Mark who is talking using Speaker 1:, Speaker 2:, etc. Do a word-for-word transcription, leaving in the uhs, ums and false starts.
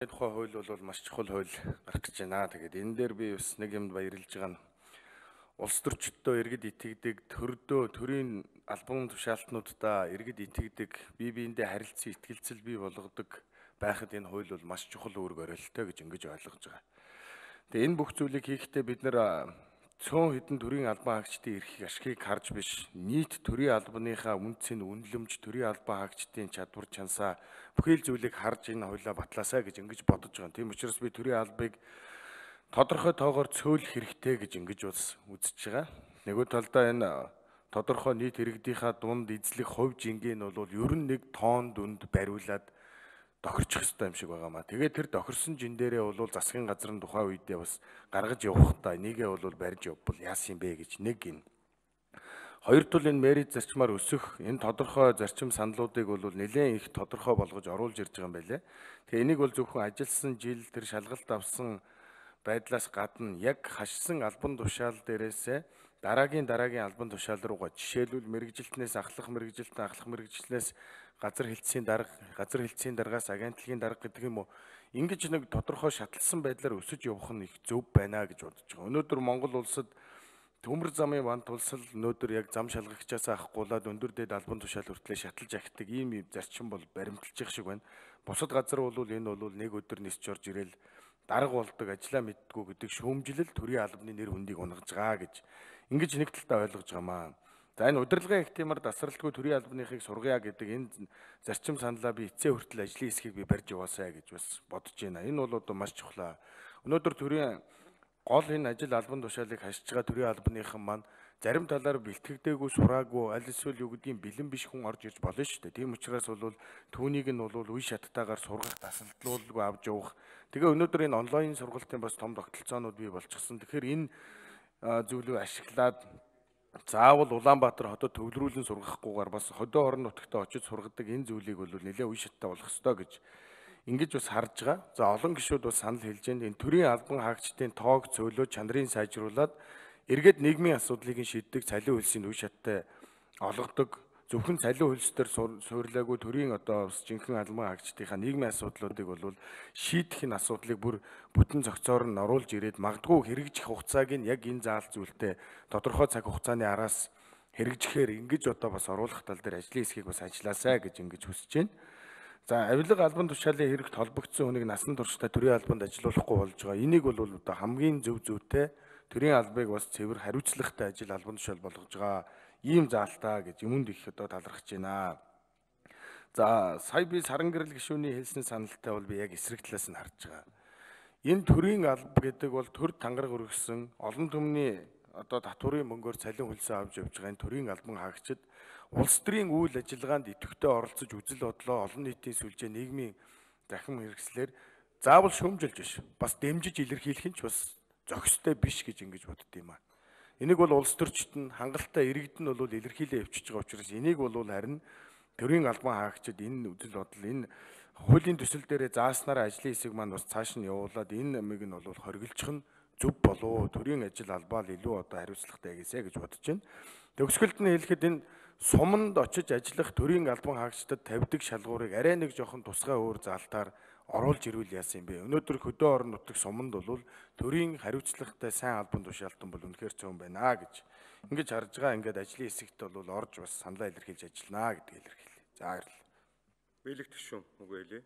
Speaker 1: Тухай хууль бол маш чухал хууль гарах гэж байна. Тэгээд энэ дээр би бас нэг юмд баярлж байгаа нь улс төрчдөө иргэд итгэдэг, төрдөө төрийн албан тушаалтнуудаа иргэд итгэдэг, бие биендээ харилцан итгэлцэл бий болгодог байхад энэ хууль бол маш чухал үүрэг оройлтой гэж ингэж ойлгож байгаа. Тэгээд энэ бүх зүйлийг хийхдээ бид нэр цөөн хэдэн төрийн албан хаагчдын эрхийг ашигыг харж биш, нийт төрийн албаныхаа үнцийн үнэлэмж, төрийн албан хаагчдын чадвар чансаа бүхэл зүйлийг харж энэ хуулиа батлаасаа гэж ингэж бодож байгаа. Тийм учраас би төрийн албыг тодорхой тоогоор цөөлөх хэрэгтэй гэж ингэж бас үзэж байгаа. Нөгөө талдаа энэ тодорхой нийт иргэдийнхаа дунд эзлэх хувь жингээ нь бол ер нь нэг тоон дүнд бариулаад тохирчих ёстой юм шиг байгаамаа. Тэгээд тэр тохирсон жин дээрээ бол засгийн газрын тухайн үедээ бас гаргаж явахдаа нэгээ бол барьж явбал яасан юм бэ гэж нэг гин. Хоёр тул энэ мэрит зарчмаар өсөх энэ тодорхой зарчим саналуудыг бол нэлээд их тодорхой болгож оруулж ирж байгаа юм байлээ. Тэгээ энийг бол зөвхөн ажилласан жил тэр шалгалт авсан байдлаас гадна яг хашсан албан тушаал дээрээсээ дараагийн дараагийн албан тушаал руугаа жишээлбэл мэрэгжилтнээс ахлах мэрэгжилтэн ахлах мэрэгчлэнээс газар хэлтсийн дарга газар хэлтсийн даргаас агентлагийн дарга гэдэг юм уу ингэж нэг тодорхой шатлсан байдлаар өсөж явах нь их зөв байна гэж бодож байгаа. Өнөөдөр Монгол улсад төмөр замын ван тулсал өнөөдөр яг зам шалгагчаас авахгүйлаад өндөр дэд албан тушаал хүртлээр шаталж ахдаг ийм зарчим бол баримталж шиг байна. Бусад газар бол энэ бол нэг өдөр нисч орж ирээл дарга болдог ажиллаа мэддгүү гэдэг шүүмжлэл төрийн албаны нэр хүндийг унгаж байгаа гэж ингэж нэг талдаа ойлгож байгаамаа. За энэ удирдлагын ихтимар тасралтгүй төрийн албаныхыг сургая гэдэг энэ зарчим саналаа би эцсээ хүртэл ажлын хэсгийг би барьж яваасаа гэж бас бодож байна. Энэ бол одоо маш чухал. Өнөөдөр төрийн гол энэ ажил албан тушаалыг хашиж байгаа төрийн албаныхан маань зарим талаар бэлтгэдэггүй сураагүй аль эсвэл юу гэдгийг бэлэн биш хүн орж ирж болно шүү дээ. Тийм учраас бол түүнийг нь бол үе шаттайгаар сургах тасалдлуулгүй авч явах. Тэгээ өнөөдөр энэ онлайн сургалтын бас том тогтолцоонууд бий болчихсон. Тэгэхээр энэ зүйлийг ашиглаад заавал Улаанбаатар хотод төвлөрүүлэн сургахгүйгээр бас хотын орон нутагтаа очиж сургадаг энэ зүйлийг бол нэлээд үе шаттай болох ёстой гэж ингэж бас харж байгаа. За олон гишүүд бас санал хэлж байна. Энэ төрийн албан хаагчдын тоог цөөлөө чанарыг сайжруулад эргээд нийгмийн асуудлыг шийддэг цалин хөлсийн үе шаттай олгодог. Зөвхөн цалин хөлс төр суйрлаагүй төрийн одоо бас жинхэнэ албан хаагчдынхаа нийгмийн асуудлуудыг бол шийдэх энэ асуудлыг бүр бүтэн зохицоор нь оруулж ирээд магадгүй хэрэгжих хугацааг нь яг энэ заалт зүйлтэй тодорхой цаг хугацааны араас хэрэгжихээр ингэж одоо бас оруулах тал дээр ажлын хэсгийг бас ажилласаа гэж ингэж хүсэж байна. За авилга албан тушаалын хэрэгт холбогдсон хүнийг насан туршдаа төрийн албанд ажиллуулахгүй болж байгаа. Энийг бол одоо хамгийн зөв зүйтэй төрийн албыг бас цэвэр хариуцлагатай ажил албан тушаал болгож байгаа ийм заалтаа гэж юмд их одоо талархаж байна. За сая би саран гэрэл гишүүний хэлсэн саналтай бол би яг эсрэг талаас нь харж байгаа. Энэ төрийн алба гэдэг бол төр тангараг өргөсөн олон түмний одоо татварын мөнгөөр цалин хөлсөө авч явж байгаа энэ төрийн албан хаагчид улс төрийн үйл ажиллагаанд идэвхтэй оролцож үзэл бодлоо олон нийтийн сүлжээ нийгмийн захин хэрэгслэр заавал шүүмжилж биш бас дэмжиж илэрхийлэх нь ч бас зохистой биш гэж ингэж бодд юм аа. Энийг бол улс төрчид нь хангалттай иргэд нь бол илэрхийлээ явчихж байгаа учраас энийг бол харин төрийн албан хаагчид энэ үзэл бодол энэ хуулийн төсөл дээрээ зааснараа ажлын хэсэг маань бас цааш нь явуулаад энэ амиг нь бол хоригдчих нь зөв болов төрийн ажил албаа л илүү одоо хариуцлагатай гэсэ гэж бодож байна. Төгсгөлд нь хэлэхэд энэ суманд очиж ажиллах төрийн албан хаагчдад тавьдаг шалгуурыг арай нэг жоохон тусгай өөр заалтаар оруулж ирвэл яасан юм бэ? Өнөөдөр хөдөө орон нутаг суманд бол төрийн хариуцлагатай сайн албан тушаалтан бол үнэхээр цөөн байна гэж ингэж харж байгаа. Ингээд ажлын хэсэгт бол орж бас саналаа илэрхийлж ажиллана гэдгийг илэрхийлье. За баярлалаа.
Speaker 2: Биелэх төшөө үгүй ээ.